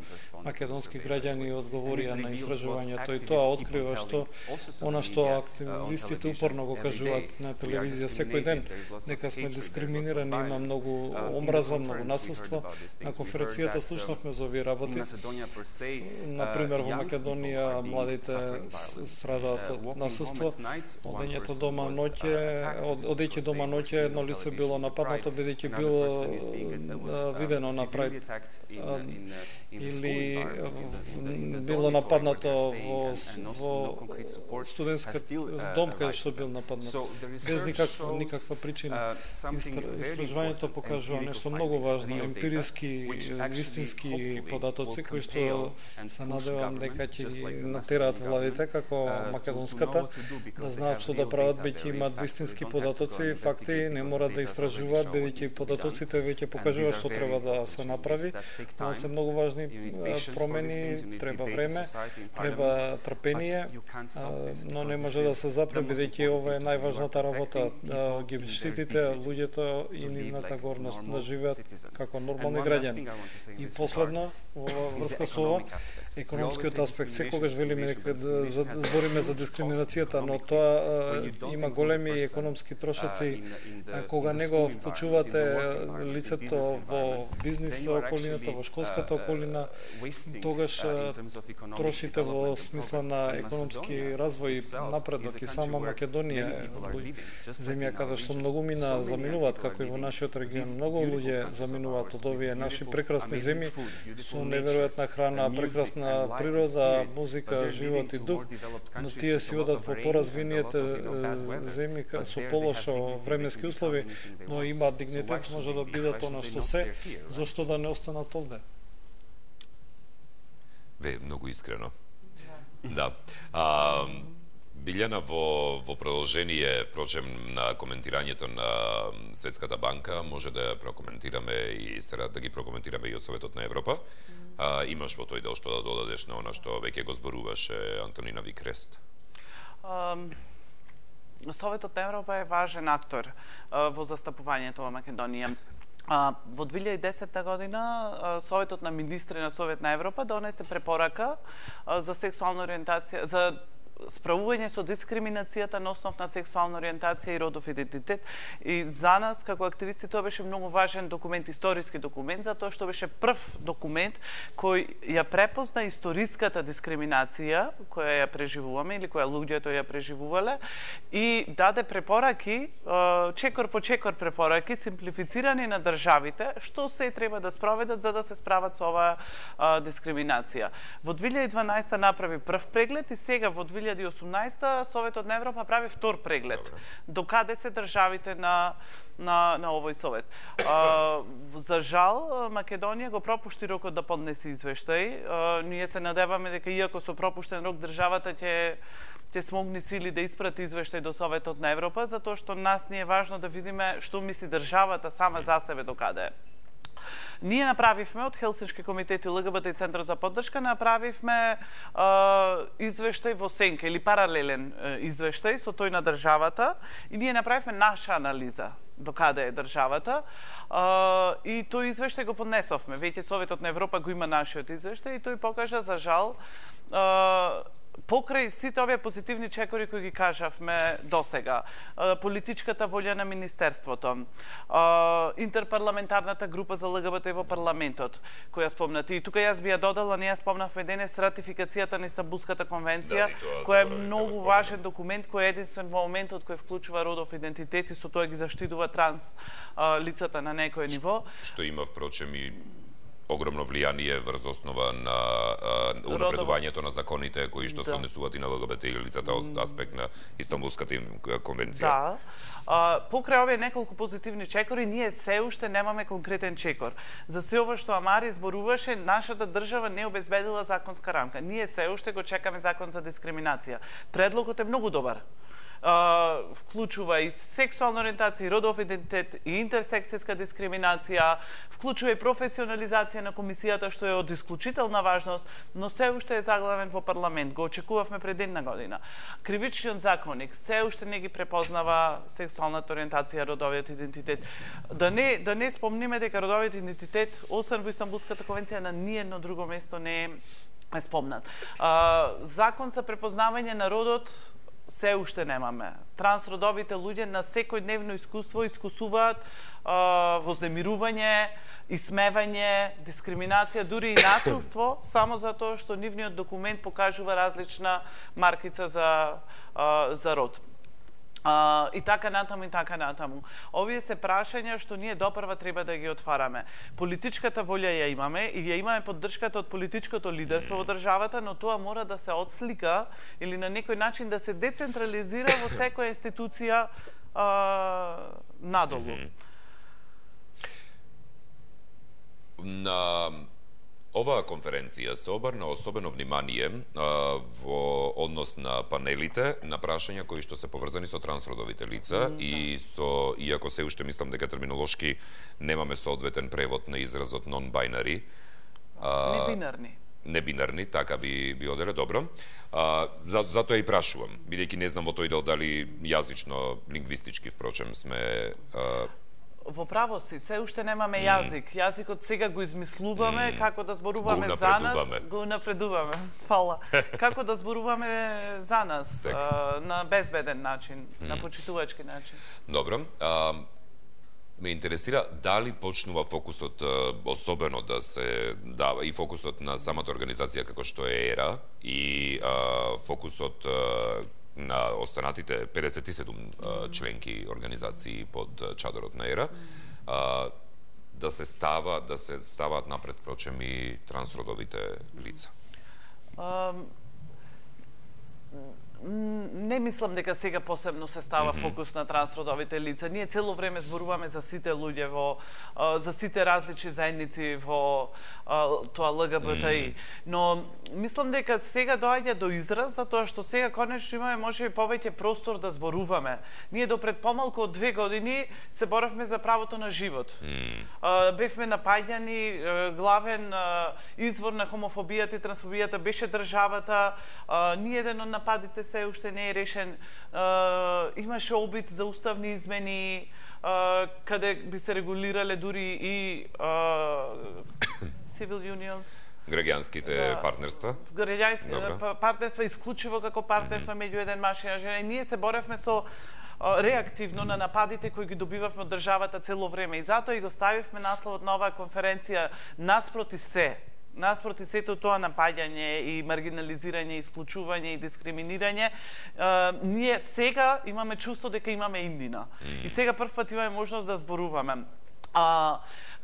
македонски граѓани одговорија на истражувањето, и тоа открива што она што активистите упорно го кажуваат на телевизија секој ден, дека сме дискриминирани, има многу омраза, многу насилство. На конференцијата слушнавме за овие работи. Например, во Македонија младите страдаат од насилство. Одењето дома ноќе, одејќи дома ноќе, едно лице било нападнато бидејќи било видено на прајд, или било нападнато во во студентска дом каде што бил нападнат без никаква никаква причина. Истражувањето покажува нешто многу важно, емпириски, вистински податоци кои што се надевам дека ќе натераат владите како македонската да знаат што да прават, бидејќи имаат вистински податоци, факти, не мора да истражуваат, бидејќи податоците веќе покажуваат што треба да се направи. Тоа се многу важни промени, треба време, треба трпение, но не може да се запре, бидејќи ова е најважната работа, да ги штитите луѓето и нивната горност да живеат како нормални граѓани. И последно, во врска со ова, економскиот аспект, секогаш велиме дека збориме за дискриминацијата, но тоа има големи економски трошоци кога не го вклучувате лицето во бизнис околината, во школската околина, тогаш трошите во смисла на економски развој, напредок. И сама Македонија е земја каде што многу мина заминуваат, како и во нашиот регион. Многу луѓе заминуваат од овие наши прекрасни земји со неверојатна храна, прекрасна природа, музика, живот и дух, но тие си одат во поразвините земји со полошо временски услови, но имаат дигнитет, може да бидат она што се, зошто да не останат овде? Ве, многу искрено. Да. А, Билјана, во, во продолжение, прочем, на коментирањето на Светската банка, може да ја прокоментираме и сега да ги прокоментираме и од Советот на Европа. А, имаш во тој дел што да додадеш на она што веќе го зборуваше Антонина Викрест? Um... Советот на Европа е важен актор uh, во застапувањето во Македонија. Uh, во две илјади и десета година uh, Советот на министри на Совет на Европа донесе препорака uh, за сексуална ориентација, за справување со дискриминацијата на основ на сексуална ориентација и родов идентитет. И за нас, како активисти, тоа беше многу важен документ, историски документ, затоа што беше прв документ кој ја препозна историската дискриминација која ја преживуваме или која луѓето ја преживувале и даде препораки, чекор по чекор препораки, симплифицирани на државите, што се треба да спроведат за да се справат со оваа дискриминација. Во две илјади и дванаесета направи прв преглед и сега во две илјади и осумнаесета Советот на Европа прави втор преглед. Добре. До каде се државите на на на овој совет. А, за жал Македонија го пропушти рокот да поднесе извештај. А, ние се надеваме дека иако со пропуштен рок државата ќе ќе смогни сили да испрати извештај до Советот на Европа, затоа што нас ни е важно да видиме што мисли државата сама за себе до каде е. Ние направивме од Хелсиншки комитет и ЛГБТ и Центар за поддршка направивме е, извештај во сенка или паралелен е, извештај со тој на државата и ние направивме наша анализа до каде е државата е, и тој извештај го поднесовме. Веќе Советот на Европа го има нашиот извештај и тој покажа за жал е, покрај сите овие позитивни чекори кои ги кажавме досега, политичката волја на Министерството, интерпарламентарната група за ЛГБТ во парламентот, која спомнати. И тука јас би ја додала, ние спомнавме денес ратификацијата на Истанбулската конвенција, да, која е многу важен документ, кој е единствен во моментот кој вклучува родов идентитет и со тоа ги заштитува транс лицата на некој ниво. Што има, впрочем, и огромно влијание врз основа на а, унапредувањето на законите кои што се однесуваат и на ЛГБТ лицата од аспект на Истанбулската конвенција. Да. А, покрај овие неколку позитивни чекори, ние се уште немаме конкретен чекор. За се ова што Амари зборуваше, нашата држава не обезбедила законска рамка. Ние се уште го чекаме закон за дискриминација. Предлогот е многу добар. Uh, вклучува и сексуална ориентација, и родов идентитет, и интерсекцијска дискриминација, вклучува и професионализација на комисијата, што е од исклучителна важност, но се уште е заглавен во парламент. Го очекувавме пред една година. Кривичниот законник се уште не ги препознава сексуалната ориентација, родовиот идентитет. Да не, да не спомниме дека родовиот идентитет, освен во Истанбулската конвенција, на ниедно друго место не е спомнат. Uh, закон за препознавање на родот се уште немаме. Трансродовите луѓе на секојдневно искуство искусуваат а, вознемирување, исмевање, дискриминација, дури и насилство, само затоа што нивниот документ покажува различна маркица за, а, за род. Uh, и така натаму, и така натаму. Овие се прашања што ние допрва треба да ги отвараме. Политичката волја ја имаме и ја имаме поддршката од политичкото лидерство во државата, но тоа мора да се отслика или на некој начин да се децентрализира во секоја институција uh, надолу. На оваа конференција се обрна особено внимание а, во однос на панелите на прашања кои што се поврзани со трансродовите лица mm, и да. со, иако се уште мислам дека терминолошки немаме соодветен превод на изразот non-binary. Небинарни. Небинарни, така би би оделе добро. А, за, затоа и прашувам, бидејќи не знам во тој дел дали јазично, лингвистички впрочем сме а, во право си, се уште немаме јазик. Јазикот сега го измислуваме, mm. како да зборуваме за нас, го напредуваме. Фала. Како да зборуваме за нас, а, на безбеден начин, mm. на почитувачки начин. Добро. А, ме интересира дали почнува фокусот особено да се дава и фокусот на самата организација како што е ЕРА и а, фокусот а, на останатите педесет и седум mm. членки организации под чадорот на ЕРА, mm. да се става да се ставаат напред прочем и трансродовите лица. Um... Не мислам дека сега посебно се става mm -hmm. фокус на трансродовите лица. Ние цело време зборуваме за сите луѓе во за сите различни заедници во тоа ЛГБТИ. Mm -hmm. Но мислам дека сега доаѓа до израз затоа што сега конечно имаме можеби повеќе простор да зборуваме. Ние до пред помалку од две години се боравме за правото на живот. Mm -hmm. Бевме напаѓани, главен извор на хомофобијата и трансфобијата беше државата. Ниеден од нападите се уште не е решен. Uh, имаше обид за уставни измени, uh, каде би се регулирале дури и uh, civil unions. Граѓанските да, партнерства. Граѓански партнерства, исклучиво како партнерства mm -hmm. меѓу еден маж и една жена. И ние се боревме со uh, реактивно на нападите кои ги добивавме од државата цело време. И затоа и го ставивме насловот на оваа конференција наспроти се. Наспроти сето тоа напаѓање и маргинализирање, исклучување и дискриминирање, е, ние сега имаме чувство дека имаме индина. Mm. И сега прв пат имаме можност да зборуваме. А,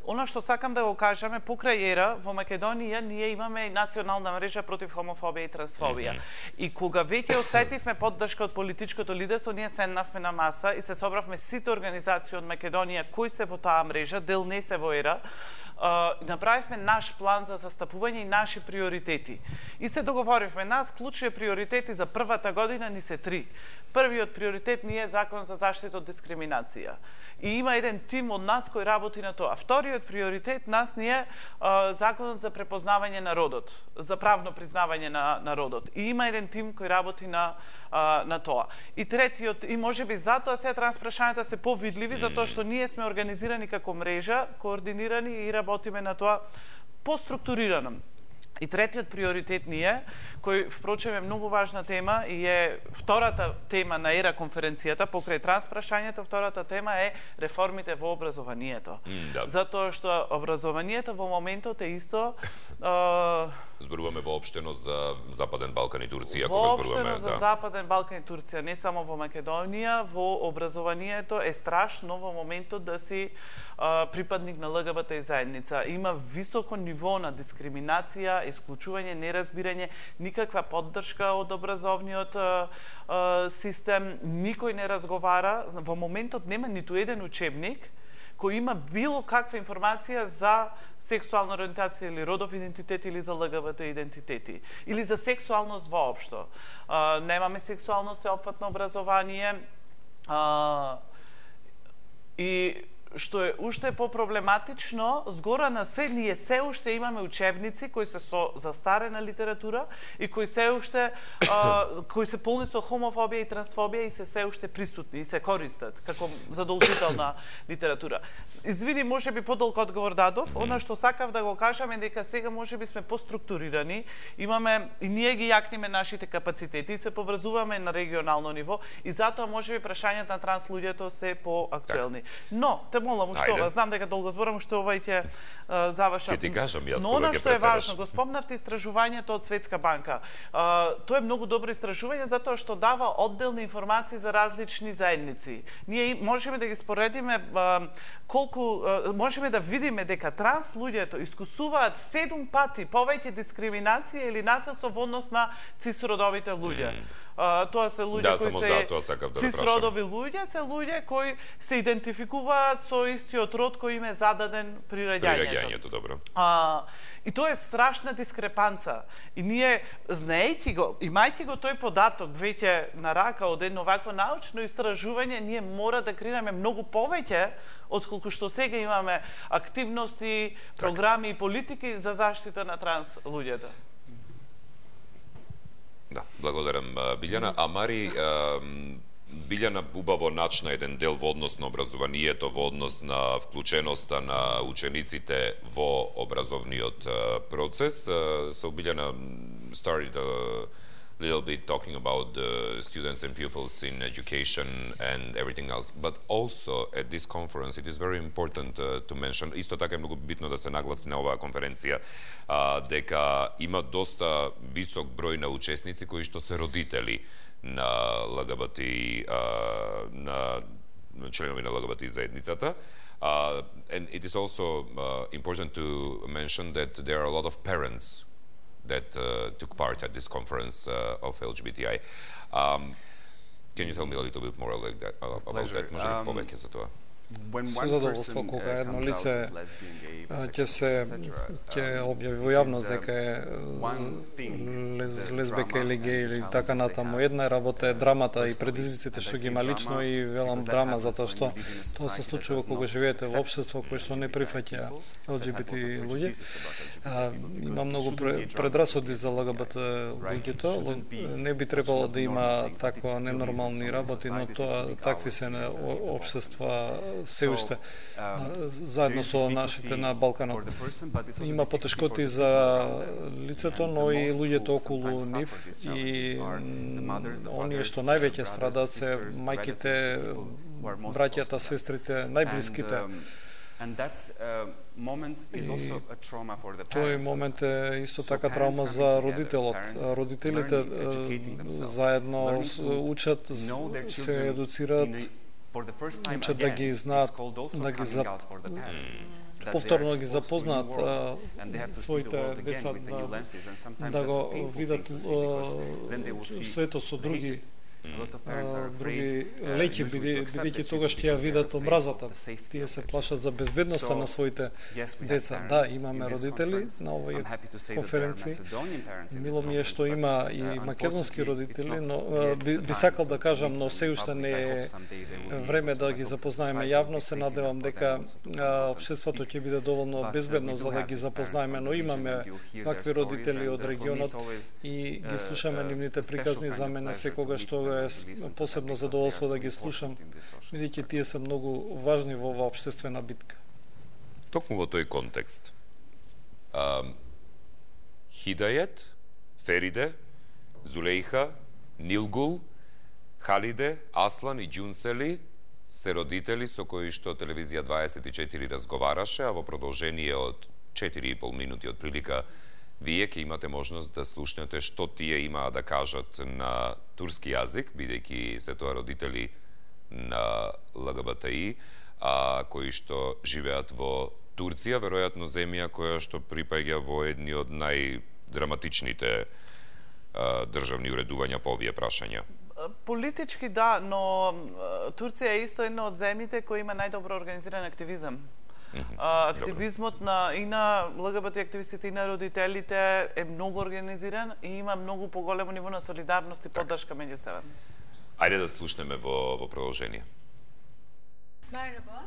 Она што сакам да го кажеме, покрај ЕРА, во Македонија ние имаме национална мрежа против хомофобија и трансфобија. Mm -hmm. И кога веќе осетивме поддршка од политичкото лидерство, ние седнавме на маса и се собравме сите организации од Македонија кои се во таа мрежа, дел не се во ЕРА, Uh, направивме наш план за застапување и наши приоритети. И се договоривме, нас клучни приоритети за првата година ни се три. Првиот приоритет ни е закон за заштита од дискриминација. И има еден тим од нас кој работи на тоа. Вториот приоритет нас ни е uh, законот за препознавање на родот, за правно признавање на, на родот. И има еден тим кој работи на на тоа. И третиот, и можеби затоа сега транспрашањата се повидливи, затоа што ние сме организирани како мрежа, координирани и работиме на тоа поструктурирано. И третиот приоритет ни е, кој впрочем е многу важна тема и е втората тема на ЕРА конференцијата, покрај транспрашањето, втората тема е реформите во образованието. Mm, да. Затоа што образованието во моментот е исто зборуваме воопштено за Западен Балкан и Турција, кога зборуваме, воопштено за да. Западен Балкан и Турција, не само во Македонија, во образованието е страшно во моментот да си а, припадник на ЛГБТ заедница. Има високо ниво на дискриминација, исклучување, неразбирање, никаква поддршка од образовниот а, а, систем, никој не разговара. Во моментот нема ниту еден учебник кој има било каква информација за сексуална ориентација или родов идентитет или за ЛГБТ идентитети или за сексуалност воопшто. А, немаме сексуално сеопфатно образование а, и што е уште попроблематично, згора на се, ние се уште имаме учебници кои се со застарена литература и кои се уште а, кои се полни со хомофобија и трансфобија и се се уште присутни и се користат како задолжителна литература. Извини, може би подолг одговор дадов, она што сакав да го кажам е дека сега може би сме поструктурирани, имаме и ние ги јакниме нашите капацитети и се поврзуваме на регионално ниво и затоа може би прашањата на транс луѓето се поактуелни. Но те молам уште ова, знам дека долго зборам, уште ова и ќе завршам. Ќе ти кажам јас Но кога она ќе што е претераш. важно, го спомнавте истражувањето од Светска банка. А, тоа е многу добро истражување затоа што дава одделни информации за различни заедници. Ние можеме да ги споредиме а, колку а, можеме да видиме дека транс луѓето искусуваат седум пати повеќе дискриминација или насилство во однос на цисродовите луѓе. Mm. Uh, тоа се луѓе Да, кои само се да, тоа сакав да цисродови луѓе, се луѓе кои се идентификуваат со истиот род кој им е зададен при раѓањето. При раѓањето, добро. А, и тоа е страшна дискрепанца. И ние, знаејќи го, имајќи го тој податок веќе на рака од едно вакво научно истражување, ние мора да креираме многу повеќе отколку што сега имаме активности, програми и политики за заштита на транс луѓето. Да, благодарам Билјана. А Мари, Билјана убаво начна еден дел во однос на образованието, во однос на вклученоста на учениците во образовниот процес. So Билјана started a little bit talking about the students and pupils in education and everything else. But also at this conference it is very important uh, to mention, исто така е многу битно да се нагласи на оваа конференција, uh, дека има доста висок број на учесници кои што се родители на ЛГБТ, uh, на членови на ЛГБТ заедницата. Uh, and it is also uh, important to mention that there are a lot of parents that uh, took part at this conference uh, of L G B T I. Um, can you tell me a little bit more like that, uh, about that? Може ли повеќе за тоа? Со задоволство кога едно лице ќе се ќе објави во јавност дека е лез, лесбека или геј или така натаму. Една работа е драмата и предизвиците што ги има лично и велам драма затоа што тоа се случува кога живеете во општество кое што не прифаќа Л Џи Би Ти луѓе. А, има многу предрасуди за ЛГБТ луѓето. Не би требало да има таква ненормални работи, но тоа такви се на општества се уште заедно со нашите на Балканот. Има потешкоти за лицето, но и луѓето околу нив и оние што највеќе страдаат се мајките, браќата, сестрите, најблиските. Тој момент е исто така траума за родителот. Родителите заедно учат, се едуцираат, учат да ги знаат, да ги зап... повторно да ги запознаат а, своите деца, да, да го видат светот со други други леки, бидејќи тогаш ќе ја видат омразата. Тие се плашат за безбедноста на своите деца. Да, имаме родители на овој конференција. Мило ми е што има и македонски родители, но би, би сакал да кажам, но се уште не е време да ги запознаеме јавно. Се надевам дека општеството ќе биде доволно безбедно за да ги запознаеме, но имаме вакви родители од регионот и ги слушаме нивните приказни. За мене секогаш тоа е посебно задоволство да ги слушам, бидејќи тие се многу важни во оваа општествена битка. Токму во тој контекст, а, Хидајет, Фериде, Зулејха, Нилгул, Халиде, Аслан и Ѓунсели се родители со кои што телевизија дваесет и четири разговараше, а во продолжение од четири и пол минути од прилика Вие ќе имате можност да слушнете што тие имаа да кажат на турски јазик, бидејќи се тоа родители на ЛГБТИ, а кои што живеат во Турција, веројатно земја која што припаѓа во едни од најдраматичните а, државни уредувања по овие прашања. Политички да, но Турција е исто една од земјите кои има најдобро организиран активизам. Mm-hmm. А, активизмот на, и на ЛГБТ активистите и на родителите е многу организиран и има многу поголемо ниво на солидарност и поддршка меѓу себе. Ајде да слушнеме во, во продолжение. Merhaba,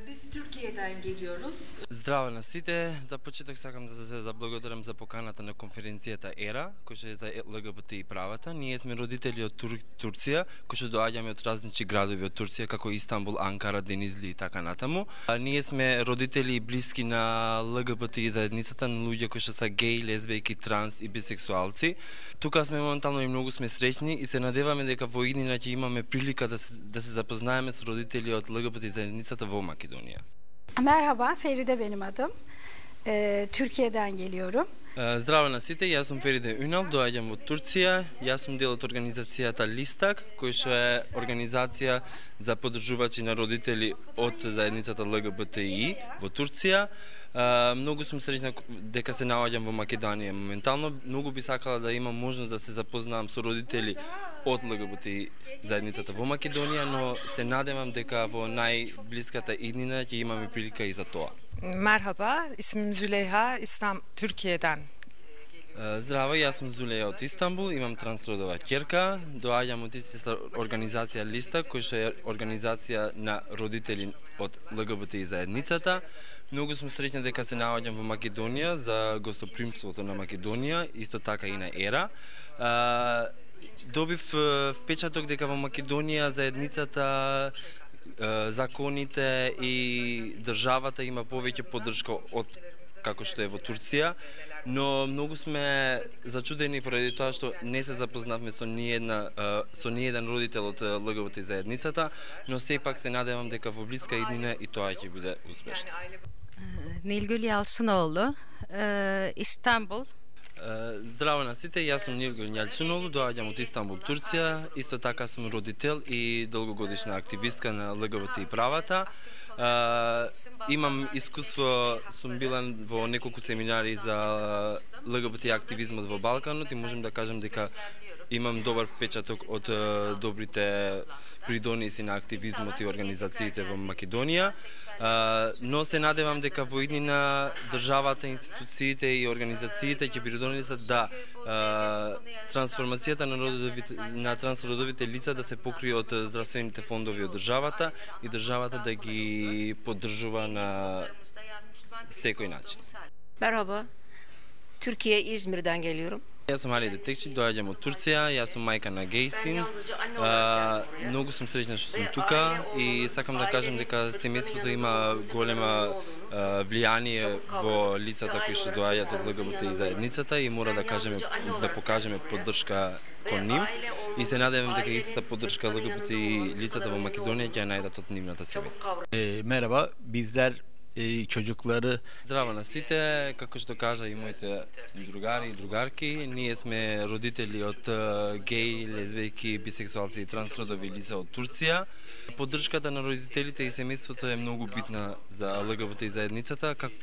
biz Türkiye'den geliyoruz. Здраво на сите, за почеток сакам да се заблагодарам за поканата на конференцијата ЕРА, која е за ЛГБТ и правата. Ние сме родители од Тур... Турција, кои што доаѓаме од различни градови од Турција, како Истанбул, Анкара, Денизли и така натаму. А, ние сме родители и блиски на ЛГБТ и заедницата, на луѓе кои што се геи, лесбијки, транс и бисексуалци. Тука сме моментално и многу сме среќни и се надеваме дека во иднина ќе имаме прилика да се, да се запознаеме со родители од ЛГБТ и заедницата во Македонија. Merhaba, Feride benim adım. Ee, Türkiye'den geliyorum. Здраво на сите, јас сум Фериде Юнал, доаѓам од Турција. Јас сум дел од организацијата Листак, која што е организација за поддржувачи на родители од заедницата ЛГБТИ во Турција. Многу сум среќна дека се наоѓам во Македонија моментално. Многу би сакала да имам можност да се запознавам со родители од ЛГБТИ заедницата во Македонија, но се надевам дека во најблиската иднина ќе имаме прилика и за тоа. Merhaba, ismim Züleyha, İslam Türkiye'den. Здраво, јас сум Зулеја од Истанбул, имам трансродова ќерка, доаѓам од истата организација Листа, која што е организација на родители од ЛГБТ и заедницата. Многу сум среќна дека се наоѓам во Македонија за гостопримството на Македонија, исто така и на ЕРА. Добив впечаток дека во Македонија заедницата, законите и државата има повеќе поддршка од како што е во Турција, но многу сме зачудени поради тоа што не се запознавме со ниедна со ниеден родител од ЛГБТ заедницата, но сепак се надевам дека во блиска иднина и тоа ќе биде успешно. Nilgül Yalçınoğlu, İstanbul. Здраво на сите, јас сум Нилгül Јалчиноğlu, доаѓам од Истанбул, Турција. Исто така сум родител и долгогодишна активистка на ЛГБТ и правата. Имам искуство, сум била во неколку семинари за ЛГБТ активизмот во Балканот и можем да кажем дека имам добар впечаток од добрите придониси на активизмот и организациите во Македонија, но се надевам дека во иднина државата, институциите и организациите ќе придонесат да трансформацијата на, родовите, на трансродовите лица да се покрие од здравствените фондови од државата и државата да ги поддржува на секој начин. Merhaba, Türkiye İzmir'den geliyorum. Јас сум Али Детекчи, доаѓам од Турција, јас сум мајка на геј син. Многу сум среќна што сум тука и сакам да кажам дека семејството има голема влијание во лицата кои што доаѓаат од ЛГБТ и заедницата и мора да кажеме да покажеме поддршка кон нив и се надевам дека истата поддршка ЛГБТ и лицата во Македонија ќе ја најдат од нивната семејство. Merhaba, bizler çocukları. Здраво на сите, како што кажа и моите другари и другарки, ние сме родители од геи, лесбијки, бисексуалци и трансродови лица од Турција. Поддршката на родителите и семејството е многу битна за ЛГБТ и заедницата, како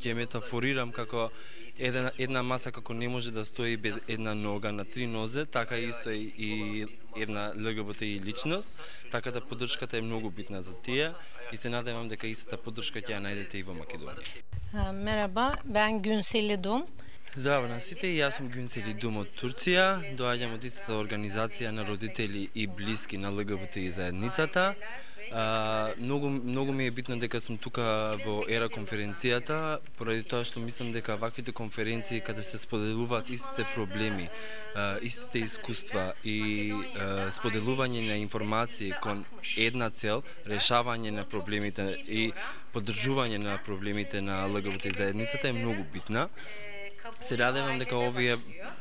ќе метафорирам како една, една маса како не може да стои без една нога на три нозе, така исто и, и една ЛГБТ и личност, така да поддршката е многу битна за тие и се надевам дека истата поддршка ќе ја најдете и во Македонија. Merhaba, ben Günseli Dum. Здраво на сите, јас сум Günseli Dum од Турција, доаѓам од истата организација на родители и блиски на ЛГБТ и заедницата. А, многу, многу ми е битно дека сум тука во ЕРА конференцијата, поради тоа што мислам дека ваквите конференции каде се споделуваат истите проблеми, а, истите искуства и а, споделување на информации кон една цел, решавање на проблемите и поддржување на проблемите на ЛГБТ заедницата е многу битна. Се радевам дека овие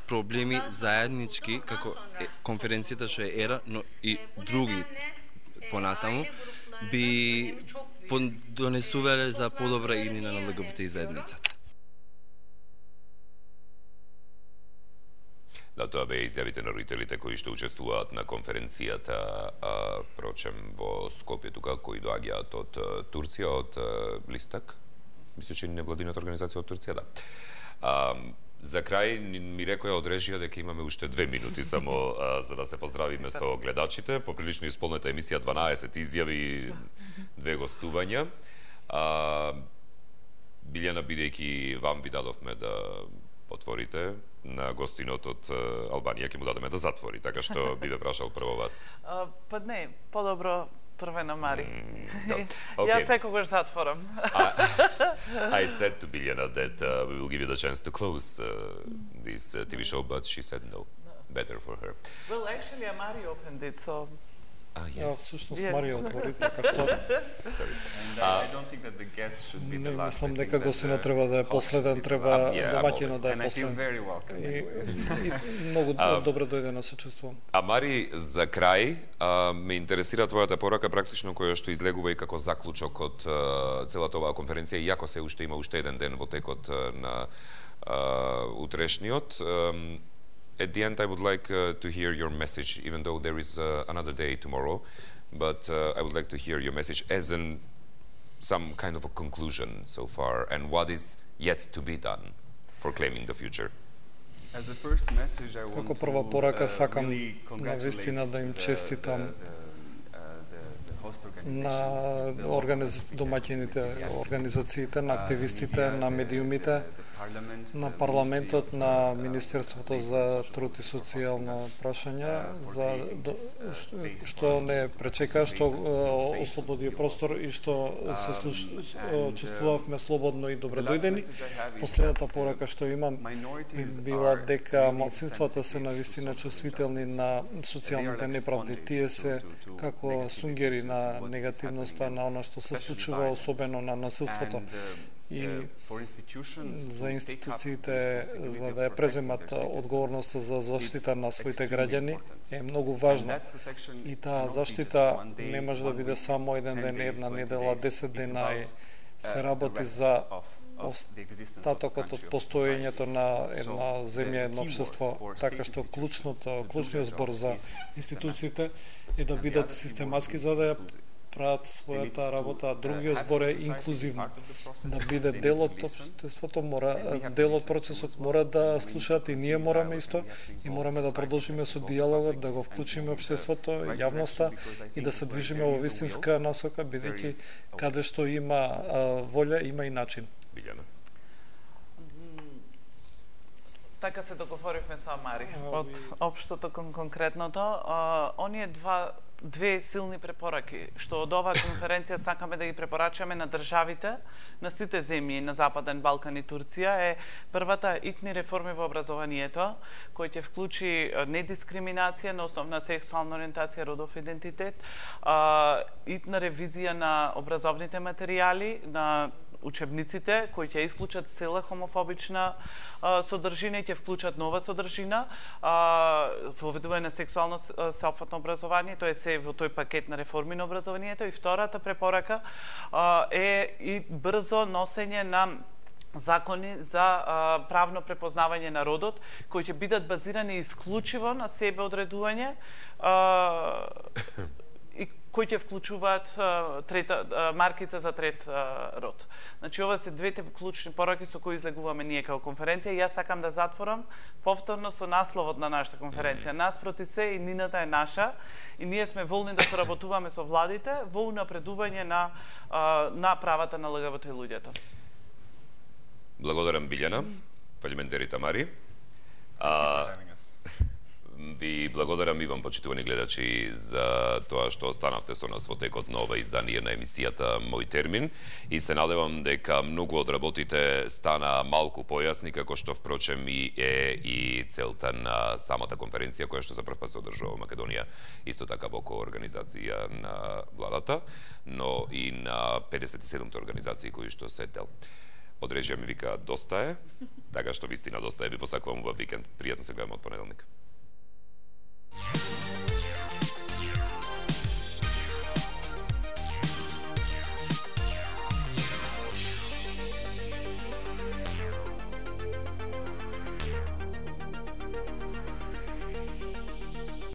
проблеми заеднички, како конференцијата што е ЕРА, но и други понатаму, би донесувале за подобра иднина на ЛГБТ заедницата. Да, тоа беа изјавите на родителите кои што учествуваат на конференцијата, а, прочем, во Скопје тука, кои доаѓаат од Турција, од Листак. Мисля, че невладината организација од Турција, да. А, за крај ми рекоја од режија дека имаме уште две минути само а, за да се поздравиме со гледачите. Поприлично исполнета емисија, дванаесет изјави, две гостувања. А, Билјана, бидејќи вам ви дадовме да отворите, на гостинот од Албанија ќе му дадеме да затвори, така што би ве прашал прво вас. А, па не, подобро прве на Мари. Mm, да. Јас секогаш затворам. I said to Biljana that uh, we will give you the chance to close uh, this uh, T V show, but she said no. Better for her. Well, actually, Mari opened it, so... Ah, yes. Ja, всушност Марија отвори, така што... Не мислам дека гостинот треба да е последен, треба домаќинот да е последен. И, и многу добро дојде на се чувствувам. А Мари, за крај, а, ме интересира твојата порака практично која што излегува и како заклучок од а, целата оваа конференција, иако се уште има уште еден ден во текот на а, утрешниот. Um, At the end, I would like uh, to hear your message, even though there is uh, another day tomorrow, but uh, I would like to hear your message as in some kind of a conclusion so far, and what is yet to be done for claiming the future. As a first message, I want Како прва порака сакам really навистина да им честитам на организ... домаќините, организациите, на активистите, на медиумите, на парламентот, на Министерството за труд и социјална прашања, за што не пречека, што ослободи простор и што се слуш... чувствувавме слободно и добредојдени. Последната порака што имам била дека малцинствата се навистина чувствителни на социјалните неправди. Тие се како сунгери на негативноста, на она што се случува, особено на насилството. И за институциите, за да ја преземат одговорноста за заштита на своите граѓани, е многу важно. И таа заштита не може да биде само еден ден, една недела, десет дена и се работи за остатокот од постоењето на една земја, едно општество, така што клучното, клучниот збор за институциите е да бидат систематски за да ја прават својата работа, а другиот збор е инклузивно. Да биде дел од општеството, мора, дел од процесот, мора да слушаат и ние мораме исто и мораме да продолжиме со диалогот, да го вклучиме општеството, јавноста и да се движиме во вистинска насока, бидејќи каде што има а, волја, има и начин. Билјана. Така се договоривме со Мари, од општото кон конкретното. А, оние два две силни препораки, што од оваа конференција сакаме да ги препорачаме на државите, на сите земји на Западен Балкан и Турција, е првата итни реформи во образованието, кој ќе вклучи недискриминација на основ на сексуална ориентација, родов идентитет, итна ревизија на образовните материјали, на учебниците, кои ќе исклучат цела хомофобична а, содржина и ќе вклучат нова содржина, воведување на сексуално сеопфатно образование, тоа е се во тој пакет на реформи на образованието. И втората препорака а, е и брзо носење на закони за а, правно препознавање на родот, кои ќе бидат базирани исклучиво на себе одредување, а, и кои ќе вклучуваат а, трета а, маркица за трет а, род. Значи, ова се двете клучни пораки со кои излегуваме ние како конференција. И јас сакам да затворам повторно со насловот на нашата конференција. Нас проти се и нината е наша и ние сме волни да соработуваме со владите во унапредување на, а, на правата на ЛГБТ луѓето. Благодарам, Билјана. Фалиментери Тамари. А, ви благодарам и вам, почитувани гледачи, за тоа што останавте со нас во текот на ова издание на емисијата Мој термин и се надевам дека многу од работите стана малку појасни, како што впрочем и е и целта на самата конференција која што за прв пат се одржува во Македонија, исто така во коорганизација на владата, но и на педесет и седум организации кои што се дел. Од режија ми вика доста е, така што вистина доста е, ви посакувам убав викенд, пријатно се гледаме од понеделник.